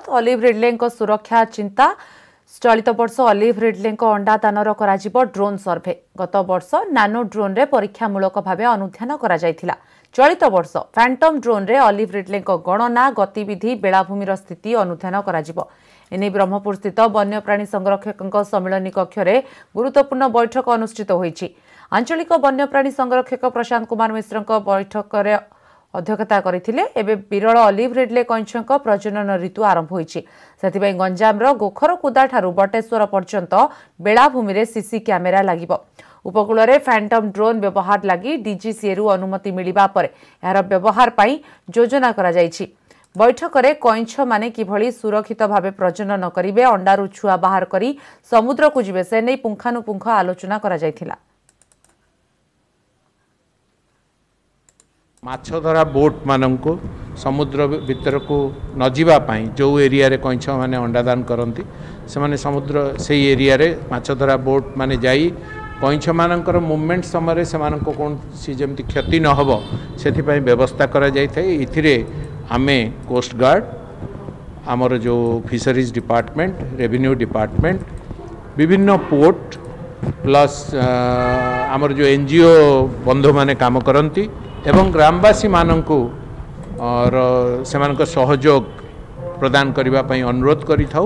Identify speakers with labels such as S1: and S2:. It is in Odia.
S1: ଅଲିଭ୍ ରିଡ୍ଲେଙ୍କ ସୁରକ୍ଷା ଚିନ୍ତା। ଚଳିତ ବର୍ଷ ଅଲିଭ୍ ରିଡ୍ଲେଙ୍କ ଅଣ୍ଡାଦାନର କରାଯିବ ଡ୍ରୋନ୍ ସର୍ଭେ। ଗତ ବର୍ଷ ନାନୋ ଡ୍ରୋନ୍ରେ ପରୀକ୍ଷାମୂଳକ ଭାବେ ଅନୁଧ୍ୟାନ କରାଯାଇଥିଲା। ଚଳିତ ବର୍ଷ ଫ୍ୟାଣ୍ଟମ୍ ଡ୍ରୋନ୍ରେ ଅଲିଭ୍ ରିଡ୍ଲେଙ୍କ ଗଣନା, ଗତିବିଧି, ବେଳାଭୂମିର ସ୍ଥିତି ଅନୁଧ୍ୟାନ କରାଯିବ। ଏନେଇ ବ୍ରହ୍ମପୁର ସ୍ଥିତ ବନ୍ୟପ୍ରାଣୀ ସଂରକ୍ଷକଙ୍କ ସମ୍ମିଳନୀ କକ୍ଷରେ ଗୁରୁତ୍ୱପୂର୍ଣ୍ଣ ବୈଠକ ଅନୁଷ୍ଠିତ ହୋଇଛି। ଆଞ୍ଚଳିକ ବନ୍ୟପ୍ରାଣୀ ସଂରକ୍ଷକ ପ୍ରଶାନ୍ତ କୁମାର ମିଶ୍ରଙ୍କ ବୈଠକରେ ଅଧ୍ୟକ୍ଷତା କରିଥିଲେ। ଏବେ ବିରଳ ଅଲିଭ୍ ରିଡ୍ଲେ କଇଁଛଙ୍କ ପ୍ରଜନନ ଋତୁ ଆରମ୍ଭ ହୋଇଛି। ସେଥିପାଇଁ ଗଞ୍ଜାମର ଗୋଖରକୁଦାଠାରୁ ବଟେଶ୍ୱର ପର୍ଯ୍ୟନ୍ତ ବେଳାଭୂମିରେ ସିସି କ୍ୟାମେରା ଲାଗିବ। ଉପକୂଳରେ ଫ୍ୟାଣ୍ଟମ୍ ଡ୍ରୋନ୍ ବ୍ୟବହାର ଲାଗି ଡିଜିସିଏରୁ ଅନୁମତି ମିଳିବା ପରେ ଏହାର ବ୍ୟବହାର ପାଇଁ ଯୋଜନା କରାଯାଇଛି। ବୈଠକରେ କଇଁଛମାନେ କିଭଳି ସୁରକ୍ଷିତ ଭାବେ ପ୍ରଜନନ କରିବେ, ଅଣ୍ଡାରୁ ଛୁଆ ବାହାର କରି ସମୁଦ୍ରକୁ ଯିବେ, ସେ ନେଇ ପୁଙ୍ଖାନୁପୁଙ୍ଖ ଆଲୋଚନା କରାଯାଇଥିଲା।
S2: ମାଛ ଧରା ବୋଟ୍ମାନଙ୍କୁ ସମୁଦ୍ର ଭିତରକୁ ନ ଯିବା ପାଇଁ, ଯେଉଁ ଏରିଆରେ କଇଁଛମାନେ ଅଣ୍ଡାଦାନ କରନ୍ତି, ସେମାନେ ସମୁଦ୍ର ସେଇ ଏରିଆରେ ମାଛ ଧରା ବୋଟ୍ ମାନେ ଯାଇ କଇଁଛମାନଙ୍କର ମୁଭମେଣ୍ଟ ସମୟରେ ସେମାନଙ୍କ କୌଣସି ଯେମିତି କ୍ଷତି ନ ହେବ ସେଥିପାଇଁ ବ୍ୟବସ୍ଥା କରାଯାଇଥାଏ। ଏଥିରେ ଆମେ କୋଷ୍ଟଗାର୍ଡ଼, ଆମର ଯେଉଁ ଫିସରିଜ୍ ଡିପାର୍ଟମେଣ୍ଟ, ରେଭିନ୍ୟୁ ଡିପାର୍ଟମେଣ୍ଟ, ବିଭିନ୍ନ ପୋର୍ଟ, ପ୍ଲସ୍ ଆମର ଯେଉଁ ଏନ୍ ଜି ଓ ବନ୍ଧୁମାନେ କାମ କରନ୍ତି ଏବଂ ଗ୍ରାମବାସୀମାନଙ୍କୁ ସେମାନଙ୍କ ସହଯୋଗ ପ୍ରଦାନ କରିବା ପାଇଁ ଅନୁରୋଧ କରିଥାଉ।